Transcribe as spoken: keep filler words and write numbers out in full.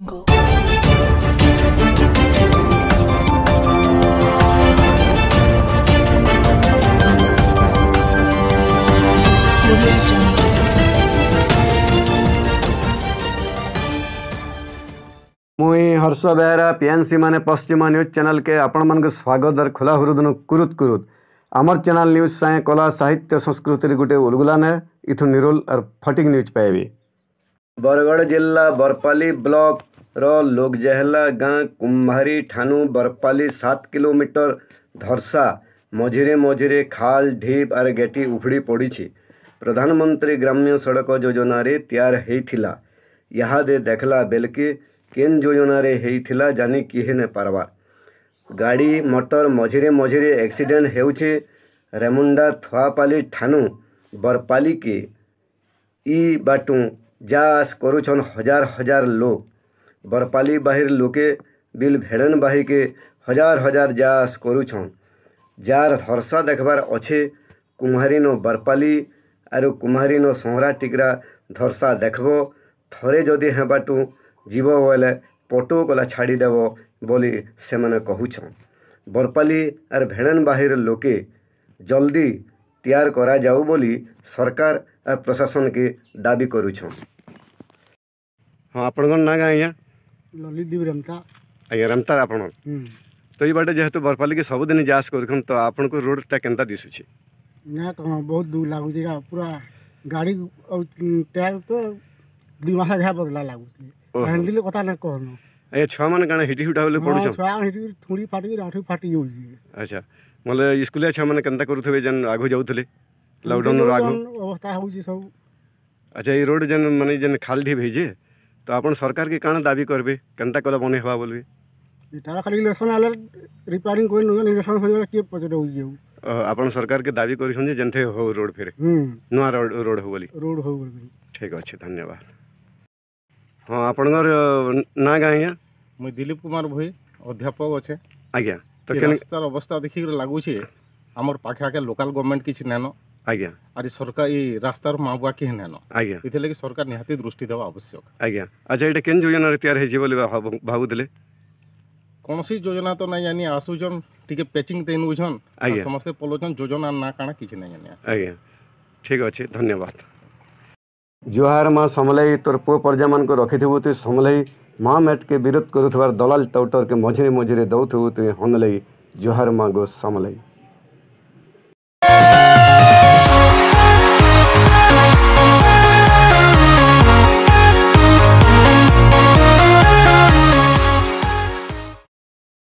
ମୁଇଁ ହର୍ଷ ବେହେରା, ପିଏନ୍ସି ମାନେ ପଶ୍ଚିମ ନ୍ୟୁଜ୍ ଚ୍ୟାନେଲକେ ଆପଣମାନଙ୍କୁ ସ୍ୱାଗତ ଆର୍ ଖୋଲା ହୃଦନୁ କୁରୁତ କୁରୁତ। ଆମର ଚ୍ୟାନେଲ ନ୍ୟୁଜ୍ ସାଙ୍ଗେ କଲା, ସାହିତ୍ୟ, ସଂସ୍କୃତିରେ ଗୋଟେ ଉଲଗୁଲାନ। ଇଥୁ ନିରୁଲ ଆର୍ ଫଟିକ ନ୍ୟୁଜ୍ ପାଇବେ। ବରଗଡ଼ ଜିଲ୍ଲା ବରପାଲି ବ୍ଲକର ଲୋକଜେହଲା ଗାଁ କୁମ୍ଭାରୀ ଠାନୁ ବରପାଲି ସାତ କିଲୋମିଟର ଧର୍ସା ମଝିରେ ମଝିରେ ଖାଲ, ଢିପ ଆର୍ ଗେଟି ଉଫୁଡ଼ି ପଡ଼ିଛି। ପ୍ରଧାନମନ୍ତ୍ରୀ ଗ୍ରାମ୍ୟ ସଡ଼କ ଯୋଜନାରେ ତିଆର ହେଇଥିଲା। ଇହାଦେ ଦେଖଲା ବେଲକେ କେନ୍ ଯୋଜନାରେ ହେଇଥିଲା ଜାନି କିହେ ନେ ପାରବା। ଗାଡ଼ି ମଟର ମଝିରେ ମଝିରେ ଆକ୍ସିଡେଣ୍ଟ ହେଉଛେ। ରେମୁଣ୍ଡା ଥୁଆପାଲି ଠାନୁ ବରପାଲିକେ ଇ ବାଟୁ ଯା ଆସ କରୁଛନ୍ ହଜାର ହଜାର ଲୋକ। ବରପାଲି ବାହିର ଲୋକେ ବିଲ୍ ଭେଡ଼େନ ବାହିକେ ହଜାର ହଜାର ଯା ଆସ କରୁଛନ୍। ଯାର ଧର୍ସା ଦେଖବାର ଅଛେ, କୁମ୍ଭାରୀନ ବରପାଲି ଆରୁ କୁମ୍ଭାରୀନ ସହରା ଟିକରା ଧର୍ସା ଦେଖବ। ଥରେ ଯଦି ହେବାଟୁ ଯିବ ବୋଇଲେ ପଟୁ କଲା ଛାଡ଼ିଦେବ ବୋଲି ସେମାନେ କହୁଛନ୍। ବରପାଲି ଆର୍ ଭେଡ଼େନ ବାହିର ଲୋକେ ଜଲ୍ଦି ତିଆର କରାଯାଉ ବୋଲି ସରକାର ଆର୍ ପ୍ରଶାସନକେ ଦାବି କରୁଛନ୍। ହଁ, ଆପଣଙ୍କର ନାଁ କାଁ ଆଜ୍ଞା? ଲଲିତ ଦେବ ରେମତା। ଆଜ୍ଞା, ରେମତା ଆପଣ। ହୁଁ। ତ ଏଇ ବାଟେ ଯେହେତୁ ବରପାଲିକେ ସବୁଦିନ ଯାଆସ କରୁଛନ୍, ତ ଆପଣଙ୍କୁ ରୋଡଟା କେନ୍ତା ଦିଶୁଛି? ନା, ତ ବହୁତ ଦୁଃଖ ଲାଗୁଛି, ଏଇଟା ପୁରା ଗାଡ଼ି ଆଉ, ଉଁ, ଟାୟାର ତ ଦୁଇ ମାସ ଯାହା ବଦଲା ଲାଗୁଛି। ଓହୋ। ହ୍ୟାଣ୍ଡେଲ କଥା ନା କହନ। ଆଜ୍ଞା, ଛୁଆମାନେ କାଣା ହିଟି ହୁଟା ବୋଲି ହଁ, ପଡ଼ୁଛନ୍? ଛୁଆ ହିଟି ଥୁଡ଼ି ଫାଟି, ଆଣ୍ଠୁ ଫାଟି ଯାଉଛି। ଆଚ୍ଛା, ବୋଲେ ସ୍କୁଲିଆ ଛୁଆମାନେ କେନ୍ତା କରୁଥିବେ ଯେନ୍ ଆଗୁ ଯାଉଥିଲେ, ଏମିତି ଲକଡାଉନର ଆଗୁ? ଯାଉଛନ୍, ଅବସ୍ଥା ହଉଛି ସବୁ। ଆଚ୍ଛା, ଏଇ ରୋଡ ଯେନ୍, ମାନେ, ଯେନ୍ ଖାଲ ଢିପ ହେଇଛେ, ତ ଆପଣ ସରକାରକେ କାଣା ଦାବି କରିବେ? କେନ୍ତା କଲେ ବନେଇ ହେବା ବୋଲବେ? ଏଟା ଖାଲି ଇଲେକ୍ସନ ଆଇଲେ ରିପେୟାରିଂ କରି ନଉଛନ୍, ଇଲେକ୍ସନ ସରିଗଲେ କିଏ ପଚାରେ ହଉଛି ଆଉ? ଓହୋ, ଆପଣ ସରକାରକେ ଦାବି କରିଛନ୍ ଯେ ଯେନ୍ତେ ହଉ ରୋଡ ଫେରେ, ହୁଁ। ନୂଆ ରୋଡ, ରୋଡ ହଉ ବୋଲି। ରୋଡ ହଉ ବୋଲି। ଠିକ୍ ଅଛି, ଧନ୍ୟବାଦ। ହଁ, ଆପଣଙ୍କର ନାଁ କାଁ ଆଜ୍ଞା? ମୁଇଁ ଦିଲ୍ଲୀପ କୁମାର ଭୋଇ, ଅଧ୍ୟାପକ ଅଛେ। ଆଜ୍ଞା, ତ ଏ କେନ୍- ରାସ୍ତାର ଅବସ୍ଥା ଦେଖିକରି ଲାଗୁଛେ, ଆମର ପାଖେ ଆଖେ ଲୋକାଲ ଗଭର୍ଣ୍ଣମେଣ୍ଟ କିଛି ନାଇନ। ଆଜ୍ଞା। ଆରି ସରକାର ଇ ରାସ୍ତାର ମାଗୁଆ କେହି ନାଇନ। ଆଜ୍ଞା। ଏଥିଲାଗି ସରକାର ନିହାତି ଦୃଷ୍ଟି ଦେବା ଆବଶ୍ୟକ। ଆଜ୍ଞା। ଆଚ୍ଛା, ଏଇଟା କେନ୍ ଯୋଜନାରେ ତିଆରି ହେଇଛି ବୋଲି ଭାବୁ-, ଭାବୁଥିଲେ? କୌଣସି ଯୋଜନା ତ ନାଇଁ ଜାନି, ଆସୁଛନ୍, ଟିକେ ପ୍ୟାଚିଂ ଦେଇ ନଉଛନ୍, ଆର୍ ଆଜ୍ଞା। ସମସ୍ତେ ପଲଉଛନ୍, ଯୋଜନା ନା କାଣା କିଛି ନାଇଁ ଜାନି। ଆଜ୍ଞା, ଠିକ୍ ଅଛି, ଧନ୍ୟବାଦ। ଜୁହାର ମା ସମଲେଇ, ତୋର ପୁଅ ପରଜାମାନଙ୍କୁ ରଖିଥିବୁ ତୁଇ ସମଲେଇ, ମା ମେଟକେ ବିରୋଧ କରୁଥିବାର ଦଲାଲ ଟାଉଟରକେ ମଝିରେ ମଝିରେ ଦଉଥିବୁ ତୁଇ ହନଲେଇ, ଜୁହାର ମା ଗୋ ସମଲେଇ।